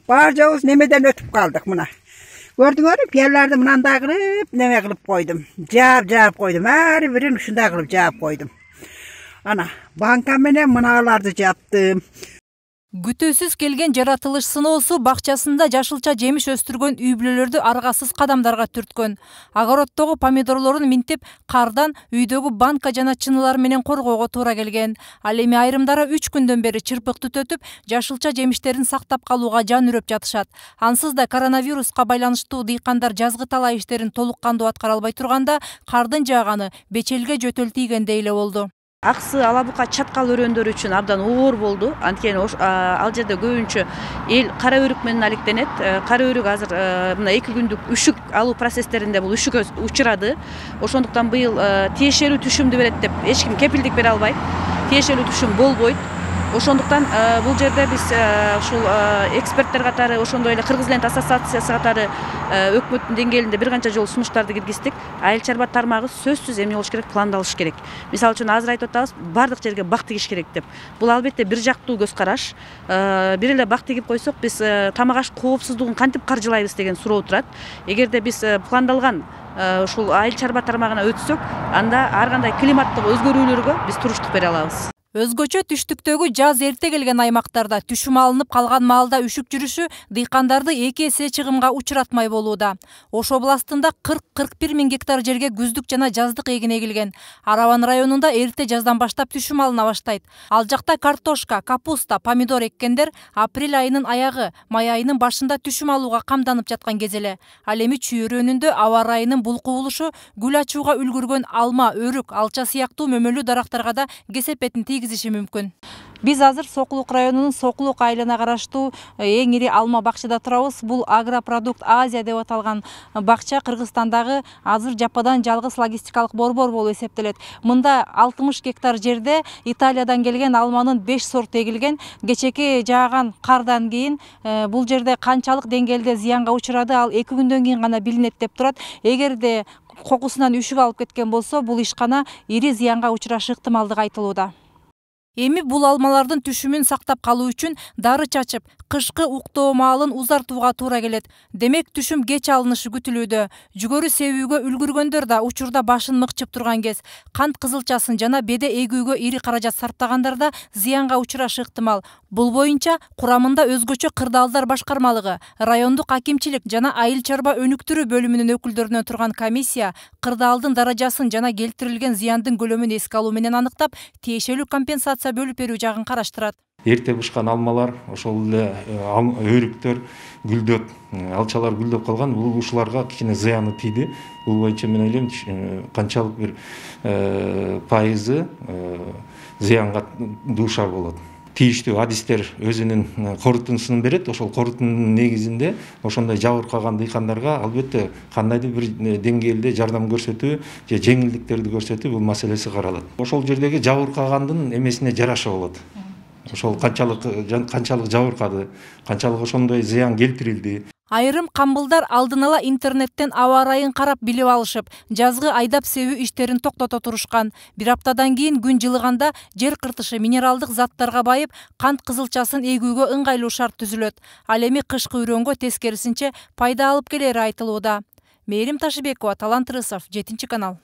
Бар жоğuz nemeden ötüp kaldık mına. Gördüңөр, piyerlerde mınanda kılıp neme kılıp koydum. Cevap koydum. Her birini şunda kılıp cevap koydum. Ana, banka menen mınalardı yaptım. Күтүүсүз келген жаратылыш сыноосу бакчасында жашылча жемиш өстүргөн үй бүлөлөрдү аргасыз кадамдарга түрткөн. Огороддогу помидорлорун минтип, кардан үйдөгү банка жана чынылар менен коргоого туура келген. Ал эми айрымдары 3 күндөн бери чырпык түтөтүп, жашылча жемиштерин сактап калууга жан үрөп жатышат. Ансыз да коронавируска байланыштуу дыйкандар жазгы талаа иштерин толук кандуу аткара албай турганда, кардын жааганы бечелге жөтөл тийгендей эле болду. Аксы алабука чаткал өрөөндөрү үчүн абдан оор болду. Анткени ал жерде көбүнчө эл кара өрүк менен алектенет. Кара өрүк азыр мына 2 күндүк үшүк алуу процесстеринде бул үшүккө учурады. Ошондуктан быйыл тиешелүү түшүмдү берет деп эч ким кепилдик бере албайт. Тиешелүү түшүм болбойт. Ошондуктан бул жерде биз ушул эксперттер катары, ошондой эле Кыргыз Лент ассоциациясы катары өкмөттүн деңгээлинде бир канча жолу сунуштарды киргиздик. Айыл чарба тармагы сөзсүз эмне болуш керек, пландалыш керек. Мисалы үчүн азыр айтып атабыз, бардык жерге бак тигиш керек деп. Бул албетте бир жактуу көз караш. Бир эле бак тигип койсок, биз тамак аш коопсуздугун кантип каржылайбыз деген суроо турат. Эгерде биз пландалган ушул айыл чарба тармагына өтсөк, анда ар кандай климаттык өзгөрүүлөргө биз туруштук бере алабыз. Өзгөчө түштүктөгү жаз эрте келген аймактарда түшүм алынып калган маалда үшүк жүрүшү дыйкандарды 2 эсе чыгымга учуратмай болууда. Ош областында 40-41 миң гектар жерге күздүк жана жаздык эгин эгилген. Араван районунда эрте жаздан баштап түшүм алына баштайт. Ал жакта картошка, капуста, помидор эккендер апрель айынын аягы, май айынын башында түшүм алууга камданып жаткан кез эле. Ал эми чүй өрөөнүндө аба ырайынын бул кубулушу гүл ачууга үлгүргөн алма, өрүк, алча сыяктуу мөмөлүү дарактарга да кесепетин тийгизиши мүмкүн. Биз азыр Сокулук районунун Сокулук айылына караштуу эң ири алма бакчада турабыз. Бул Агропродукт Азия деп аталган бакча Кыргызстандагы азыр жападан жалгыз логистикалык борбор болуп эсептелет. Мында 60 гектар жерде Италиядан келген алманын 5 сорту эгилген. Кечеки жааган кардан кийин бул жерде канчалык деңгээлде зыянга учурады, ал 2 күндөн кийин гана билинет деп турат. Эгерде кокусунан үшүк алып кеткен болсо, бул ишкана ири зыянга учурашы ыктымалдыгы айтылууда. Эми бул алмалардын түшүмүн сактап калуу үчүн дары чачып, кышкы уктоо маалын узартууга туура келет. Демек түшүм кеч алынышы күтүлүүдө. Жүгөрү себүүгө үлгүргөндөр да учурда башын мыкчып турган кез. Кант кызылчасын жана беде эгүүгө ири каражат сарптагандар да зыянга учурашы ыктымал. Бул боюнча курамында өзгөчө кырдаалдар башкармалыгы, райондук акимчилик жана айыл чарба өнүктүрүү бөлүмүнүн өкүлдөрүнөн турган комиссия кырдаалдын даражасын жана келтирилген зыяндын көлөмүн эске алуу менен аныктап, тиешелүү компенсация бөлүп берүү жагын караштырат. Эрте бышкан алмалар, ошол эле өрүктөр гүлдөп, алчалар гүлдөп калган, бул ушуларга кичине зыяны тийди. Бул боюнча мен ойлойм, канчалык бир пайызы зыянга дуушар болот. Тийиштүү адистер өзүнүн корутундусун берет. Ошол корутундун негизинде ошондой жабыркаган дыйкандарга албетте кандайдыр бир деңгээлде жардам көрсөтүү же жеңилдиктерди көрсөтүү бул маселеси каралат. Ошол жердеги жабыркагандын эмесине жараша болот. Ошол канчалык жабыркады, канчалык ошондой зыян келтирилди. Айрым камбылдар алдын ала интернеттен аба ырайын карап билип алышып, жазгы айдап себүү иштерин токтото турушкан. Бир аптадан кийин күн жылыганда жер кыртышы минералдык заттарга байып, кант кызылчасын эгүүгө ыңгайлуу шарт түзүлөт. Ал эми кышкы үрөөнгө тескерисинче пайда алып келери айтылууда. Мээрим Ташыбекова, Талант Рысов, 7 канал.